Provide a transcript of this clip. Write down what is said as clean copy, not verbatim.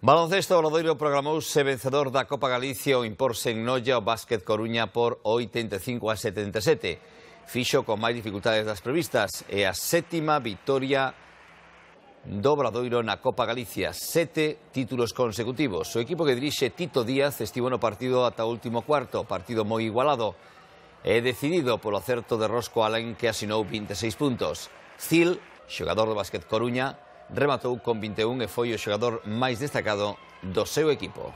Baloncesto, Obradoiro programouse vencedor da Copa Galicia ao imporse en Noia o Básquet Coruña por 85-77. Fixo con máis dificultades das previstas e a sétima vitoria do Obradoiro na Copa Galicia. 7 títulos consecutivos. O equipo que dirixe Tito Díaz estivo no partido ata o último cuarto, partido moi igualado e decidido polo acerto de Rosco Alén, que asinou 26 puntos. Zil, xogador do Básquet Coruña, rematou con 21 e foi o xogador máis destacado do seu equipo.